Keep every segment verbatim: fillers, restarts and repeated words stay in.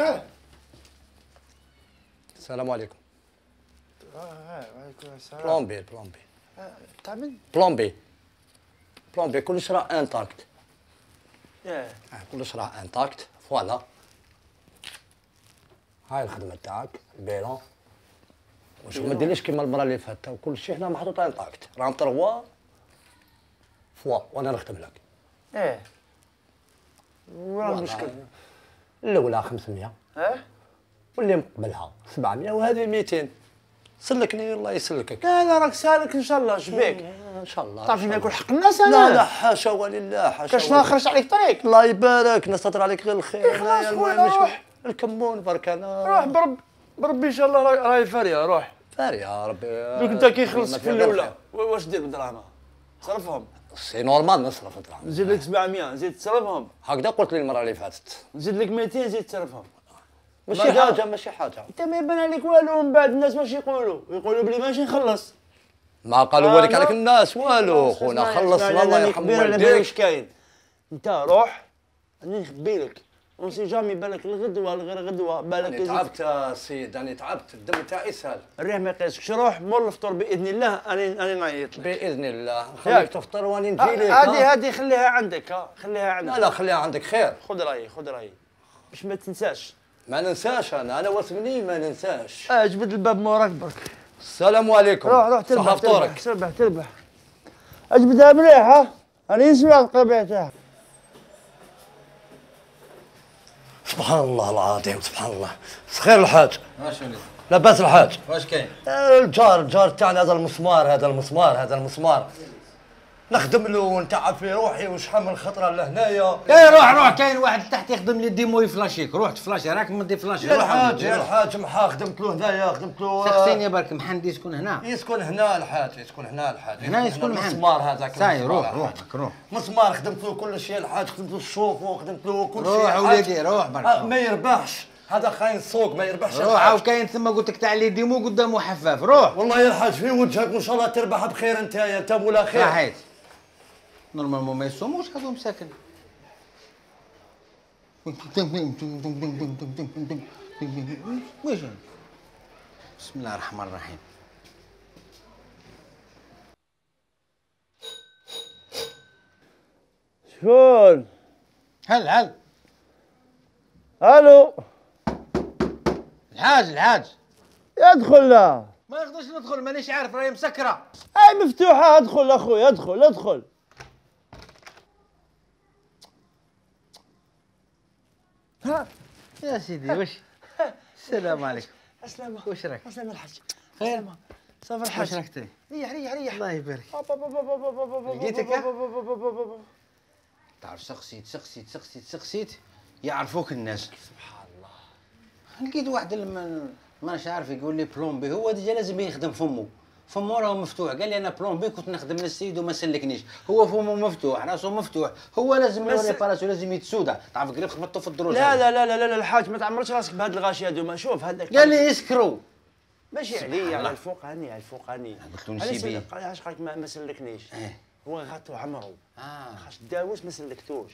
اه السلام عليكم. اه وعليكم السلام. بلومبي بلومبي تاع من؟ بلومبي بلومبي كلش راه انتاكت. ياه كلش راه انتاكت. فوالا هاي الخدمه تاعك البيلون. وشوف ما ديرليش كيما المره اللي فاتت وكلشي هنا محطوط انتاكت. راهم تروا فوا وانا نخدم لك. ايه وين المشكل؟ الاولى خمسمية اه واللي مقبلها سبعمية وهذه ميتين. سلكني الله يسلكك. لا لا راك سالك ان شاء الله شبيك؟ ان شاء الله. تعرف ناكل حق الناس انا؟ لا لا حاشا ولله حاشا. كاش ما خرجت عليك طريق؟ الله يبارك نستر عليك غير الخير. خلاص خويا المهم روح. الكمون برك انا. روح برب بربي ان شاء الله راهي فاريه روح. فاري يا ربي. دوك انت كي يخلصك في الاولى واش دير بالدراهم؟ صرفهم. سي نورمال نصرف الدراهم. نزيد لك سبعمية نزيد تصرفهم. هكذا قلت لي المره اللي فاتت. نزيد لك ميتين زيد تصرفهم. ماشي حاجه ماشي حاجه. انت ما يبان عليك والو من بعد الناس واش يقولوا؟ يقولوا بلي ماشي نخلص. ما قالوا والك عليك الناس والو خونا خلصنا الله يرحم والديك. واش كاين؟ انت روح راني نخبي لك اون جامي بالك الغدوه غير غدوه بالك. انا تعبت سيد انا تعبت الدم تاعي سال. الريح ما يقيسكش روح مول الفطور باذن الله انا انا نعيط لك. باذن الله خليك تفطر واني نجي لك. هذه هذه خليها عندك ها خليها عندك. لا لا خليها عندك خير. خذ رايي خذ رايي باش ما تنساش. ما ننساش انا انا واسمني ما ننساش. اه جبد الباب موراك برك. السلام عليكم. روح روح تربح صحة فطورك. تربح تربح تربح. اجبدها مليح ها راني نسمع القبيع تاعها. سبحان الله العظيم سبحان الله. خير الحاج. واش وليد؟ لاباس الحاج. واش كاين؟ الجار الجار تاعنا هذا المسمار هذا المسمار هذا المسمار نخدم له ونتعب في روحي وشحال من خطره لهنايا. اي روح روح كاين واحد تحت يخدم لي ديمو يفلاشيك. روح تفلاشي راك مدي فلاشي. يا روح الحاج يا الحاج محا خدمت له هنايا خدمت له. سقسيني برك محندي يسكن هنا. يسكن هنا الحاج يسكن هنا الحاج. هنا يسكن محند. مسمار هذاك. ساي روح روح برك روح. مسمار خدمت له كل شيء الحاج خدمت له الشوف وخدمت له كل شيء. روح وليدي روح برك. ما يربحش هذا خاين السوق ما يربحش. روح او كاين ثم قلت لك تاع لي ديمو قدامه حفاف. روح والله يا الحاج في وجهك وان شاء الله تربح بخير انت انت مولا خير. صحيت نورمالمون ما يصوموش هذو مساكن. واش بسم الله الرحمن الرحيم. شكون؟ هل هل الو الحاج الحاج. ادخل لا. ما نقدرش ندخل مانيش عارف راهي مسكره. اي مفتوحه ادخل اخويا ادخل ادخل. ها يا سيدي واش السلام عليكم. السلامة واش راك؟ السلامة الحاج. خير صافي الحاج. واش راك تري؟ ريح ريح ريح. الله يبارك. لقيتك؟ تعرف سقسيت سقسيت سقسيت سقسيت يعرفوك الناس. سبحان الله. لقيت واحد ما ماناش عارف يقول لي بلومبي. هو ديجا لازم يخدم فمو فمو راه مفتوح. قال لي انا بلومبي كنت نخدم للسيد وما سلكنيش. هو فمو مفتوح راسو مفتوح. هو لازم ريباراسيون لازم يتسودا. تعرف قريب خبطته في الدروج. لا لا لا لا لا الحاج ما تعمرش راسك بهاد الغاشي هذوما. شوف هذاك قال لي يسكروا. ماشي عليا على الفوقاني على الفوقاني. قلت له نسيبيه. علاش قالك ما سلكنيش؟ هو غاطو عمرو. اه خاص داوس ما سلكتوش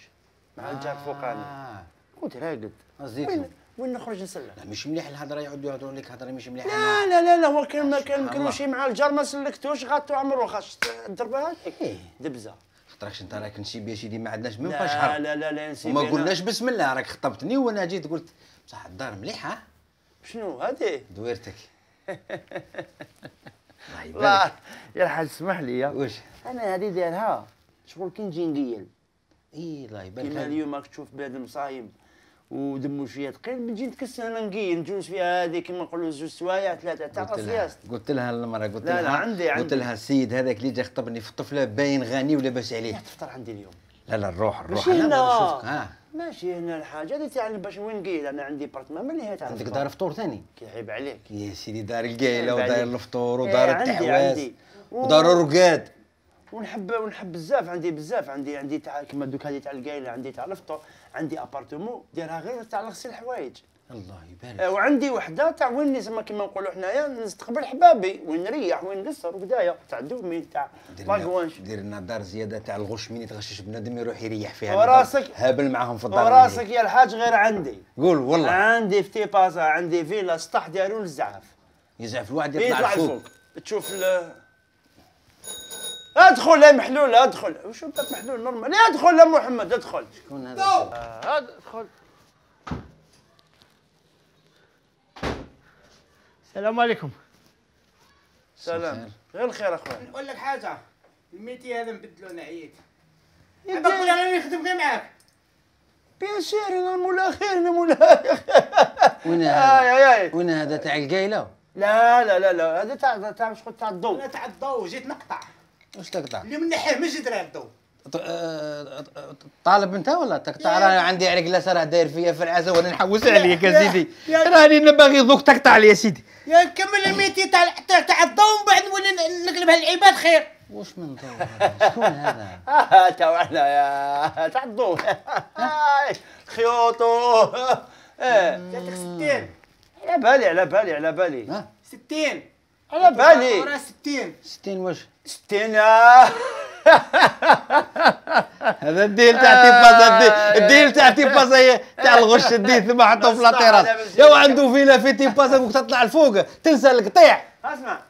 مع الجار الفوقاني. اه كنت راقد. وين وين نخرج نسلك؟ لا مش مليح الهضره يعودوا يهضروا لك هضره مش مليحه. لا لا لا لا هو كان ما كان مكروشي مع الجار ما سلكتوش غاطو عمرو. خاص تضربها هكاك دبزه. خاطركش انت راك نسيب يا سيدي ما عندناش من لا شهر. لا لا لا نسيب. وما قلناش بسم الله راك خطبتني وانا جيت قلت بصح الدار مليحه. شنو هذه؟ دويرتك. الله يبارك. يا الحاج اسمح لي. واش؟ انا هذه دايرها شغل كي نجي نقيل. اي الله يبارك. كيما اليوم راك تشوف بلاد المصايب ودمو شويه ثقيل نجي نتكسر انا نقيل نجوز فيها هذه كيما نقولوا زوج سوايع ثلاثه تاع راسياس. قلت لها المرة قلت لا لها لا عندي عندي قلت لها السيد هذاك اللي جا خطبني في الطفله باين غني ولاباس عليه. تفطر عندي اليوم. لا لا الروح الروح ماشي هنا. نشوفك. ها ماشي هنا الحاجه هذه تاع باش وين نقيل. انا عندي بارتمان ملي تاع عندك دار فطور ثاني. كيعيب عليك يا سيدي دار القايله عيب ودار عليك. الفطور إيه ودار عندي التحواز عندي. ودار الرقاد. ونحب ونحب بزاف عندي بزاف عندي عندي تاع كيما دوك هذه تاع القايله عندي تاع الفطور. عندي ابارتمون دايرها غير تاع لغسيل الحوايج. الله يبارك. آه، وعندي وحده تاع وين نسمى كيما نقولوا حنايا نستقبل حبابي وين نريح وين نقصر وكدايا تاع دومين تاع لاكوانش. دير لنا دار زياده تاع الغش من يتغشش بنادم يروح يريح فيها. وراسك هابل معاهم في الدار. وراسك يا الحاج غير عندي. قول والله. عندي في تيبازا عندي فيلا سطح داروا الزعف. يزعف الواحد يطلع يطلع الفوق. فوق. تشوف ال ادخل يا محلول ادخل. وشو باب محلول نورمال؟ ادخل يا محمد ادخل. شكون هذا؟ آه، ادخل. السلام عليكم. سلام. غير الخير اخويا. نقول لك حاجه، الميتي هذا نبدلو انا عييت. انا نقول انا نخدم غير معاك. بيان سير انا مولا خير انا مولا وين آي هذا؟ آي آي. وين هذا تاع القايله؟ لا لا لا لا هذا تاع تاع شغل تاع الضوء. انا تاع الضو جيت نقطع. واش تقطع؟ اللي من ناحيه من جدران الضو. طالب انت ولا تقطع؟ راني عندي عليك لا راه داير فيا في العزا وانا نحوس عليك يا سيدي. راني باغي دوك تقطع لي يا سيدي. يا نكمل الميتي تاع تاع تاع الضو ومن بعد نولي نقلبها للعباد خير. واش من ضو هذا؟ شكون هذا؟ اه تاع احنا يا تاع الضوء. خيوطو. اه جاتك ستين. على بالي على بالي على بالي. ها؟ ستين. على بالي. وراه ستين. ستين واش؟ ستين. هذا الديل تاع تيبازا الديل تاع تيبازا تاع الغش الديل ثم حطوه في لاطيراس. يا عنده فيلا في تيبازا وقت تطلع الفوق تنسى القطيع. اسمع.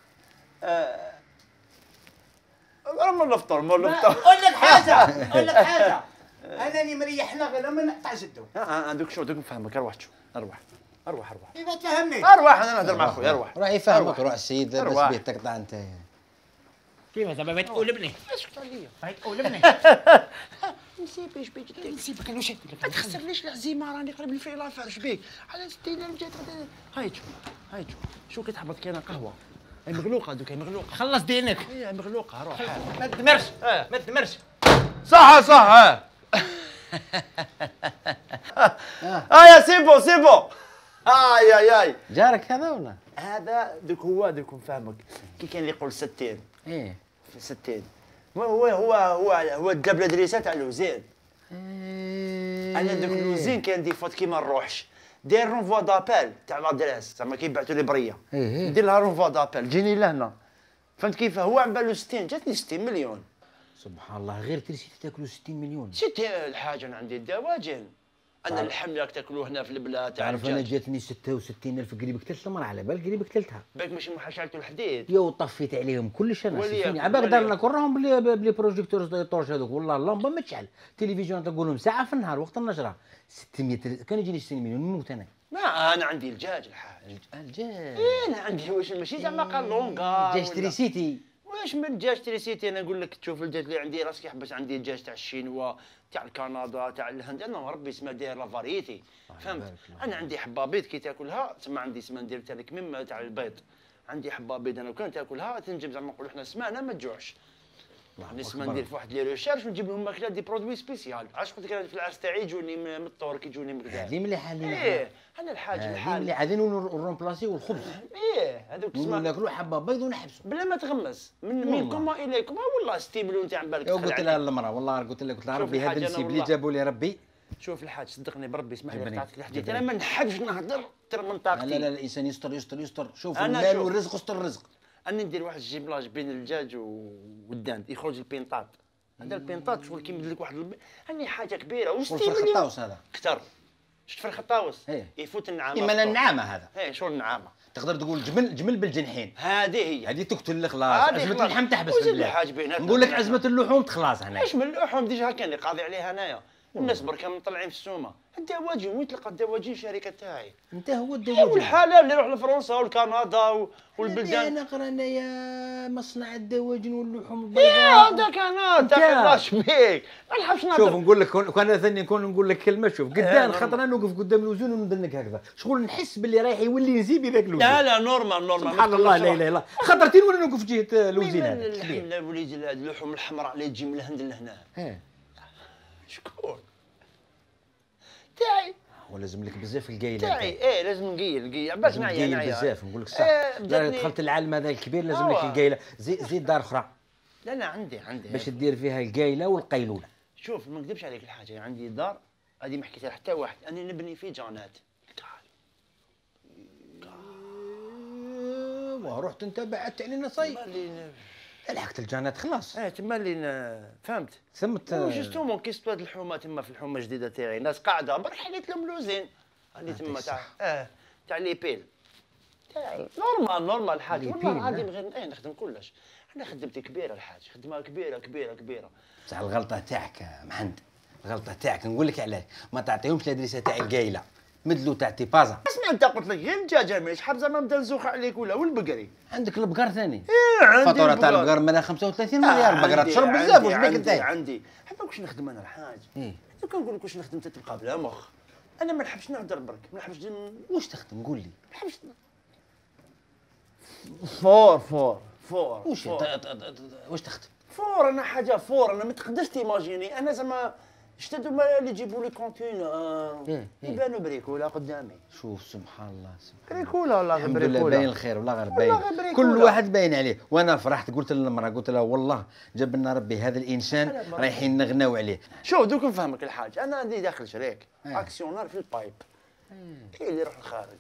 مر نفطر مر نفطر. نقول لك حاجه نقول لك حاجه. انني مريحنا غير لما نقطع جدو. عندك شو دوك نفهمك اروح شو اروح اروح اروح كيف تفهمني؟ اروح انا نهضر مع خويا اروح. روح يفهمك روح السيد بس أروح. بيه تقطع انت. كيف زعما بغيت تقولبني؟ اسكت عليا. بغيت تقولبني؟ نسيب ايش بيك نسيبك انا واش ما تخسرليش العزيمه راني قريب لي في لافير اش بيك على ستين درهم جات غدا. هاي شوف هاي شوف شو كتحبط كاينه قهوه هاي مغلوقه دوك هاي مغلوقه. خلص دينك. هي مغلوقه روح. ما تدمرش ما تدمرش. صح صح ها. اه يا سيبو سيبو. اي اي اي. جارك هذا ولا؟ هذا دوك هو دوك نفهمك كي كاين اللي يقول ستين ايه في ستين هو هو هو هو الدبله دريسه تاع الوزين. انا دوك الوزين كاين دي فوت كيما نروحش داير رونفوا دابيل تاع لادريس زعما كيبعثوا لي بريه ايه ندير لها رونفوا دابيل جيني لهنا فهمت كيف هو على بالو ستين جاتني ستين مليون. سبحان الله غير تريسيتي تاكلوا ستين مليون. ستين الحاجه انا عندي الدواجن انا اللحم راك تاكلوه هنا في البلاد تاع تعرف انا الدجاج. جاتني ستة وستين ألف قريب قتلت المرة على بال قريب قتلتها. باك ماشي محاشلته الحديد. يا وطفيت عليهم كلش انا وليكن- سيفوني عباك وليكن. دارنا كلهم بلي بلي بروجيكتور طورش هذوك والله اللمبه ما تشعل تلفزيون تقول لهم ساعه في النهار وقت النشره ستمية كان يجيني ستين مليون نموت انا. ما انا عندي الدجاج الحاج. الجاج إيه انا عندي واش ماشي زعما قالونكا جاج تريسيتي. واش من الدجاج تريسيتي انا نقول لك تشوف الدجاج اللي عندي راسك يحبس عندي الدجاج تاع الشينوا تاع الكندا تاع الهند انا ربي اسمها داير لا فاريتي فهمت. انا عندي حبابيض كي تاكلها تسمى عندي سما ندير تاع الكميم تاع البيض عندي حبابيض انا وكان تاكلها تنجم زعما نقولوا حنا سمانه ما تجوعش. نسمى ندير في واحد لي ريشيرش ونجيب لهم ماكله دي برودوي سبيسيال. علاش قلت لك انا في العرس تاعي يجوني من من الطور يجوني من كذا. هذه مليحه اللي ايه انا الحاج هذه الحال مليحه هذه نرومبلاسي والخبز ايه هذوك تسمى ناكلوا حبه بيض ونحبسوا. بلا ما تغمس من والله. منكم واليكم آه والله ستين مليون تاع بالك. يا قلت لها المراه والله قلت لها قلت لها شوف ربي هذا الحاجة أنا النسيب اللي والله. جابوا لي ربي. شوف الحاج صدقني بربي اسمح لي جبرين. قطعتك الحديث جبرين. انا ما نحبش نهضر ترى من لا طاقتي. لا لا الانسان يستر يستر يستر شوف أنا المال شوف. والرزق استر الرزق. انا ندير واحد الجيبلاج بين الدجاج والداند يخرج البينطات. هذا البينطات شغل كيمد لك واحد الب... هاني حاجه كبيره والفرخ وستين مليون الطاوس هذا كثر. شفت فرخ الطاوس إيه. يفوت النعامه. إما النعامه هذا ايه شغل النعامه تقدر تقول جمل جمل بالجنحين. هذه هي. هذه تقتل خلاص. هذه عزمة خلاص. اللحم تحبس وزيد في البلاد. الحاج بيناتنا. نقول لك عزمة اللحوم تخلاص هنا. ايش من اللحوم ديجا كان اللي قاضي عليها انايا الناس بركا مطلعين في السومه. الدواجن وين تلقى الدواجن الشركه تاعي. انت هو إيه الدواجن. والحلال اللي يروح لفرنسا والكندا و- والبلدان. انا قرانا يا مصنع الدواجن واللحوم ايه البيضاء. هذاك انا تاع الله بيك ما نحبش شوف نهضر. نقول لك كون كان ثاني نكون نقول لك كلمه شوف قدام نورمال. خاطر انا نوقف قدام الوزن وندنك هكذا شغل نحس باللي رايح يولي نزيد بذاك الوزن. لا لا نورمال نورمال سبحان الله لا اله الا الله خطرتين وانا نوقف جهه الوزن من هذا اللحم لا وليد اللحوم الحمراء اللي تجي من الهند لهنا. ايه شكون؟ تاعي ولازم لك بزاف القايله تاعي ايه لازم نقيل نقيل عباس لازم معايا تقيل انايا. بزاف نقول لك صح. إيه، لا جاتني- دخلت العالم هذا الكبير لازم لك أوه. القايله زيد زيد دار اخرى لا لا عندي عندي باش تدير فيها القايله والقيلوله. شوف ما نكذبش عليك الحاجه عندي دار هذه ما حكيتها حتى واحد انا نبني فيه جانات. تعال ورحت انت بعدت علينا صاي. تما اللي لحقت الجنات خلاص. اه تما اللي ن- فهمت. سمت جوستومون كي صوات الحومه تما في الحومه الجديده تاعي ناس قاعده برك حليت لهم لوزين اللي تما تاع اه تاع لي بيل تاعي نورمال نورمال الحاج والله العظيم غير ايه نخدم كلش. انا خدمتي كبيره الحاج خدمه كبيره كبيره كبيره. بصح الغلطه تاعك يا محمد، الغلطه تاعك نقول لك علاش ما تعطيهمش الادريسه تاع القايله مدلو تاع تيبازا. اسمع انت قلت لك غير الدجاجه مانيش حاب زعما نبدا نزوخ عليك ولا والبقري. عندك البقر ثاني. ايه عندي فاتوره تاع البقر مالها خمسة وثلاثين مليار بقره عندي- تشرب عندي- بزاف واش بيك عندي انت؟ عندي حتى واش نخدم انا الحاج. ايه لو كان نقول لك واش نخدم انت تبقى بلا مخ. انا ما نحبش نهضر برك ما نحبش ن- واش تخدم قول لي؟ ما نحبش فور فور فور واش فور. ت- ت- ت- واش تخدم؟ فور انا حاجه فور انا ما تقدرش تيماجيني انا زعما شتو ما اللي يجيبوا لي كونتينر إيه، إيه. يبانوا بريكولا قدامي شوف سبحان الله سبحان الله. بريكولا والله الحمد لله بريكولا. باين الخير والله غير والله باين غير بريكولا. كل واحد باين عليه. وانا فرحت قلت للمراه قلت لها والله جاب لنا ربي هذا الانسان أنا ما- رايحين نغناو عليه. شوف دوك نفهمك الحاج انا عندي داخل شريك إيه. اكسيونار في البايب كاين اللي يروح الخارج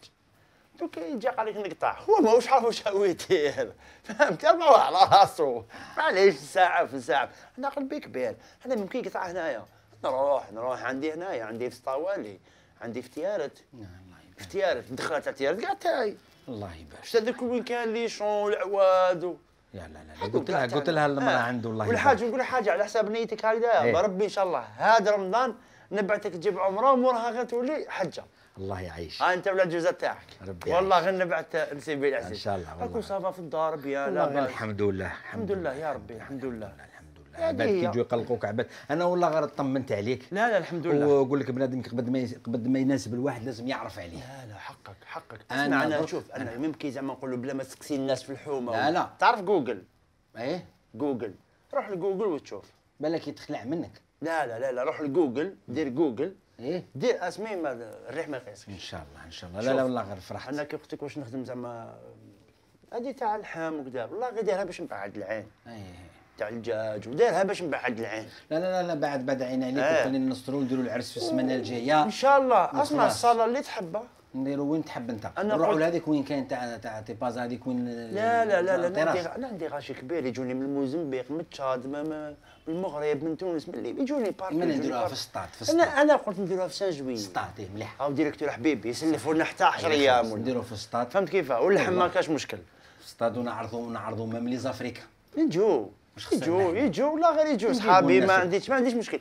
دوك يجي قال لك نقطع هو ماهوش عارف واش هو يدير فهمت ربعوا على راسو معليش ساعه في ساعه انا قلبي كبير انا ممكن يقطع هنايا نروح نروح عندي هنايا عندي في سطاوالي عندي في تيارت الله يبارك في تيارت دخلت تاع تيارت كاع تاعي الله يبارك. شتا هذاك وين كان لي شون والعواد و... لا لا لا قلت لها قلت لها المراه آه. عنده الله والحاج يبارك. نقول حاجه على حساب نيتك هكذا إيه. بربي ان شاء الله هذا رمضان نبعثك تجيب عمره ومورها غير تولي حجه الله يعيش. ها انت ولا الجوزه تاعك ربي والله غير نبعث نسيبي العزيز إن شاء الله والله. اكون صافا في الدار بيان والله لا غير بأس. الحمد لله الحمد لله يا ربي الحمد لله الحمد لله. هذه عباد هي. كي يجوا يقلقوك عباد انا والله غير طمنت عليك. لا لا الحمد لله ونقول لك بنادم قبل ما يس- قبل ما يناسب الواحد لازم يعرف عليه. لا لا حقك حقك أنا اسمع انا ضرب- شوف انا ممكن زعما نقولوا بلا ما تسقسي الناس في الحومه لا لا. تعرف جوجل ايه جوجل روح لجوجل وتشوف بالك يتخلع منك. لا لا لا لا روح لجوجل دير جوجل ايه دير اسمي ما الريح ما يقيسكش ان شاء الله ان شاء الله. لا شوف، لا والله غير فرحت. انا كي قلت لك واش نخدم زعما هذه تاع اللحم وكذا والله غير دايرها باش نبعد العين ايه تاع الدجاج ودايرها باش نبعد العين لا لا لا, لا بعد بعد عين عليك إيه. وخلينا نسطروا نديروا العرس في السمانه الجايه. ان شاء الله اسمع وخلاص. الصاله اللي تحبها نديروا وين تحب انت. أنا نروحوا قلت- لهذيك وين كاين تاع تاع تيباز هذيك وين. لا لا لا لا الطراز. انا عندي انا عندي غاشي كبير يجوني من الموزمبيق من تشاد من من المغرب من تونس من الليبيا يجوني بارك من يجوني نديروها بارك. في السطات في انا السطات. انا قلت نديروها في سان جوي السطات إيه، مليح. او ديريكتور حبيبي يسلفوا لنا حتى عشرة ايام ولا نديروا في السطات. فهمت كيفاه واللحم ما كاش مشكل في السطاد ونعرضوا نعرضوا ميم لي زافريكا. يجوا يجوا خسرنا. يجوا ولا غير يجوا نجيبوا صحابي الناس ما اللي- عنديش ما عنديش مشكل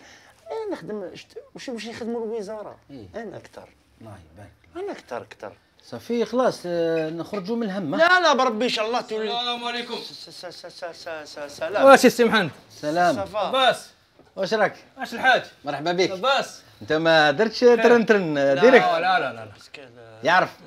انا نخدم شت- واش واش يخدموا الوزاره إيه. انا اكثر الله يبارك. انا اكثر اكثر صافي خلاص آه، نخرجوا من الهم. لا لا بربي ان شاء الله تولي السلام عليكم. س- س- س- س- س- س- سلام واش السي محمد؟ سلام. صفا لاباس؟ واش راك؟ واش الحاج؟ مرحبا بك. لاباس؟ انت ما درتش ترن ترن ديريكت. لا لا لا لا يعرف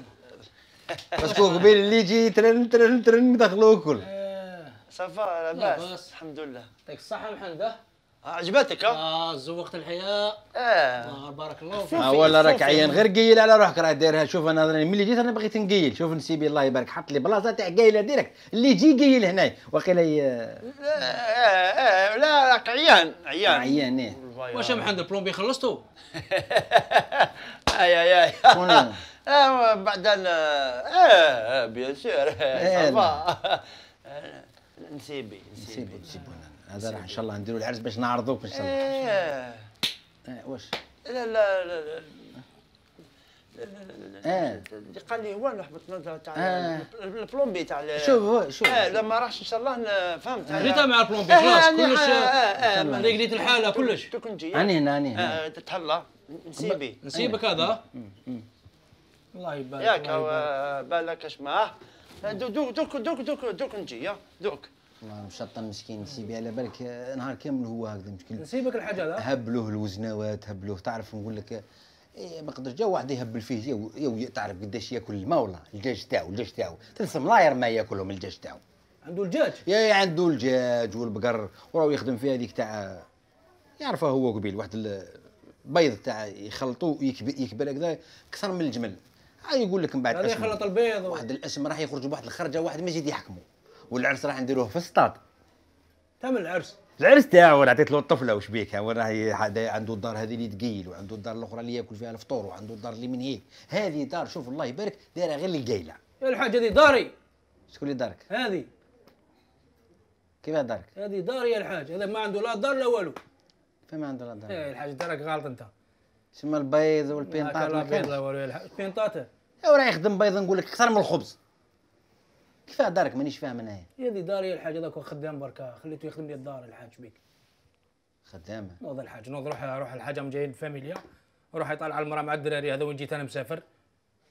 باسكو قبيل اللي يجي ترن ترن ترن دخلوا كل. آه، صفا لاباس. لاباس الحمد لله يعطيك الصحة محمد ها؟ عجبتك ها؟ اه زوقت الحياة. اه الله بارك الله فيك. اه ولا راك صوفي. عيان غير قيل على روحك راه دايرها. شوف انا راني ملي جيت انا بغيت نقيل. شوف نسيبي الله يبارك حط لي بلاصه تاع قايله ديريكت اللي يجي قيل هنايا واقيلا ي- لا آه، آه، لا راك عيان عيان عيان ايه. واش يا محمد البلومبي خلصتوا؟ اي اي اي شكون؟ آه، بعدين اه آه، بيان سور إيه، صفا آه، نسيبي نسيبو نسيبي نسيبو هذا راح ان شاء الله نديروا العرس باش نعرضوك ان شاء الله. ايه اه واش؟ لا لا لا لا اه اللي قال لي هو نحبط تاع آه. البلومبي تاع ال- شوف هو شوف اه لما راحش ان شاء الله ن- فهمت جيتها مع البلومبي آه، خلاص آه، كلش آه، آه، آه، ريقليت الحالة كلش. دوك نجي اني هنا اني هنا. آه، تتهلا نسيبي نسيبك هذا. الله يبارك. ياك الله يبارك. آه، بالك اش معاه دوك دوك دوك دوك دوك دوك نجي يا دوك والله مشطن مسكين نسيبي على بالك آه، نهار كامل هو هكذا مشكل. نسيبك الحاج هذا. هبلوه الوزنوات هبلوه تعرف نقول لك إيه ما قدرش جا واحد يهبل فيه يو, يو تعرف قداش ياكل الماء والله الدجاج تاعو الدجاج تاعو تنسى ملاير ما ياكلهم الدجاج تاعو. عنده الدجاج. يا عنده الدجاج والبقر وراهو يخدم في هذيك تاع يعرفها هو قبيل واحد البيض تاع يخلطوه يكبر يكبر هكذا اكثر من الجمل. ها يقول لك من بعد هذا اسم يخلط البيض. واحد الاسم راح يخرج بواحد الخرجه واحد ما يزيد يحكمه. والعرس راح نديروه في السطاد. تعمل العرس. العرس تاعو انا عطيت له الطفله وش بيك هو راهي عنده الدار هذه اللي تقيل وعنده الدار الاخرى اللي ياكل فيها الفطور وعنده الدار اللي من هيك. هذه دار شوف الله يبارك دايره غير للقايله. يا الحاج هذه داري. شكون اللي دارك؟ هذه كيفاه دارك؟ هذه داري يا الحاج، هذا ما عنده لا دار لا والو. فين ما عنده لا دار؟ ايه الحاج دارك غلط انت. تسمى البيض والبينطات لا ما بيض كانش. لا والو يا الحاج، بينطاته. يا راه يخدم بيض نقول لك اكثر من الخبز. كيفاه دارك مانيش فاهم انايا. هذه داري يا الحاج، هذاك خدام بركا، خليته يخدم لي الدار الحاج بيك. خدامه. نوض الحاج نوض روح روح الحاج هم جايين فاميليا، روح يطالع على المراه مع الدراري هذا وين جيت انا مسافر.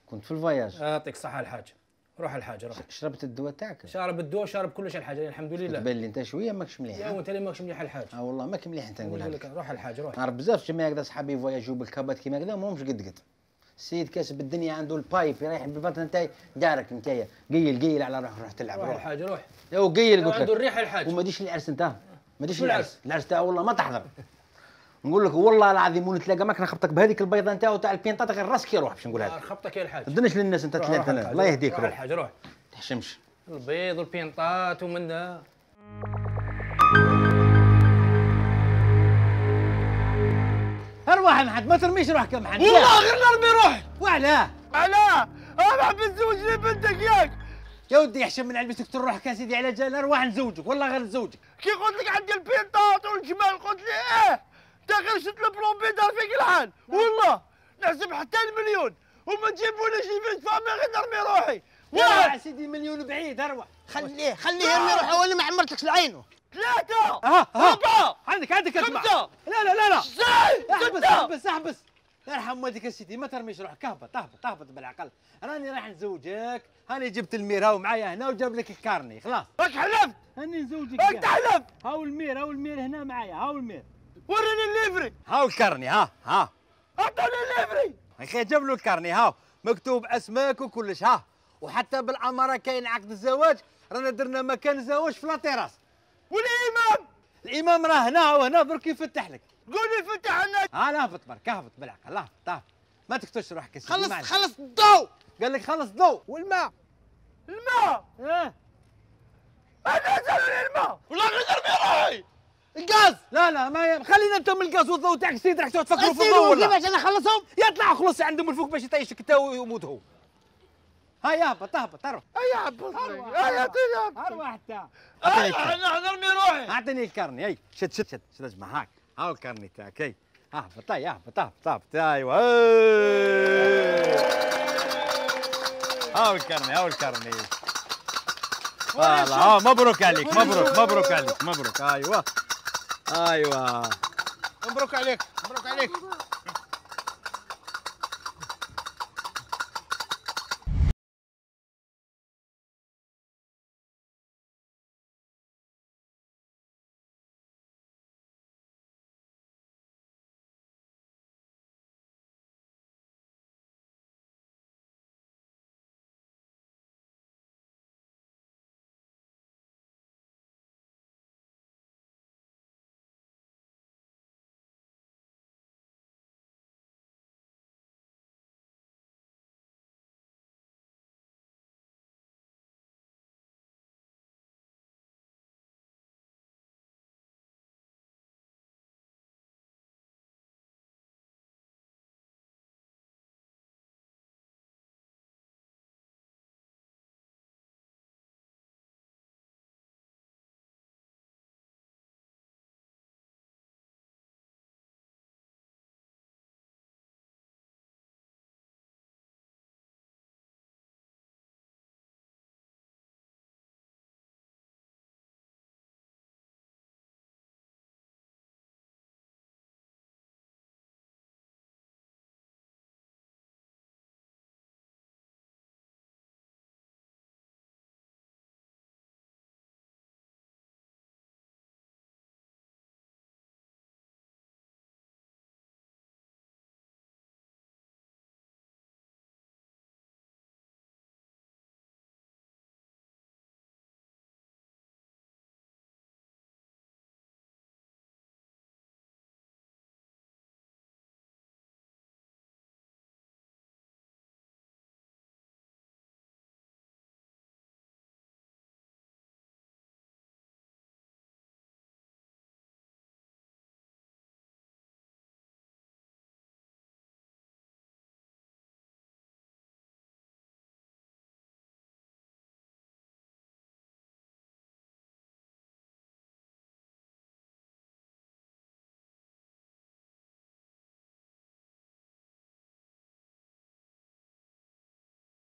كنت في الفواياج. يعطيك الصحة الحاج. روح الحاج روح. شربت الدواء تاعك؟ شارب الدواء شارب كلش الحاج الحمد لله. تبان لي انت شويه ماكش مليح. يا وانت اللي ماكش مليح الحاج. اه والله ماك مليح انت نقولها لك. روح الحاج روح. نعرف بزاف جماعه هكذا صحابي فواياجيو بالكابات كيما هكذا ماهمش قد قد. السيد كاسب الدنيا عنده البايب رايح بالبطن نتاعي دارك نتايا قيل قيل على روح روح تلعب روح روح. الحاج روح. يا قيل قلت لك. عنده الريح الحاج. وما ديش العرس انت ما ديش شو العرس العرس؟ العرس تاعو والله ما تحضر. نقول لك والله العظيم ونتلاقى معك نخبطك بهذيك البيضه نتاعو تاع البينطات غير راسك يروح باش نقولها لك. خبطك يا الحاج. ما تدنش للناس انت ثلاثه الله يهديك روح روح. الحاج روح. تحشمش. البيض والبينطات ومنها. ارواح يا محمد ما ترميش روحك يا محمد. والله غير نرمي روحي. وعلاه؟ علاه؟ انا نحب نزوج لي بنتك ياك. يا ودي يحشم من علبتك تروح روحك يا سيدي على جال ارواح نزوجك والله غير نزوجك. كي قلت لك عندي البينطات والجمال قلت لي ايه. انت غير شفت البلومبي دار فيك الحال والله نحسب حتى المليون وما تجيبونيش البنت فامي غير نرمي روحي. يا سيدي مليون بعيد اروح. خليه خليه يرمي روحه ولا ما عمرتكش لعينه. ثلاثة ها ها أربعة عندك عندك اسمع. خمسة لا لا لا لا زين احبس ستة احبس احبس. يرحم والديك يا سيدي ما ترميش روحك اهبط اهبط اهبط بالعقل. راني راح نزوجك هاني جبت المير هاو معايا هنا وجاب لك الكارني خلاص. راك حلفت هاني نزوجك. راك تحلف. هاو المير هاو المير هنا معايا هاو المير. وريني الليفري. هاو الكارني ها ها. اعطوني الليفري. اخي جاب له الكارني هاو مكتوب اسماك وكلش ها. وحتى بالاماره كاين عقد الزواج رانا درنا مكان الزواج في لاطيراس. والامام الامام راه هنا وهنا برك يفتح لك. قولي فتح لنا. ها لا اهبط برك اهبط بالعقل اهبط اهبط ما تكتش روحك يا سيدي. خلص معلش. خلص الضوء. قال لك خلص ضوء. والماء. الماء اه انا اسالني الماء والله غير نرمي روحي. الغاز. لا لا ما ي... خلينا انت من الغاز والضوء تاعك سيد راح تفكروا في الضوء غسلوا ولا كيفاش انا اخلصهم؟ يطلع خلص عندهم الفوق باش يطيشك انت ويموت هو. هاي اهبط اهبط اروح. اي عبطني اي اعطيني اروح انت. انا نرمي روحي. اعطيني الكارني هاي شد شد شد شد اجمع هاك هاو الكارني تاعك هاي اهبط هاي اهبط اهبط اهبط ايوه هاو الكارني هاو الكارني. فوالا ها مبروك عليك مبروك مبروك عليك مبروك ايوه ايوه مبروك عليك مبروك عليك.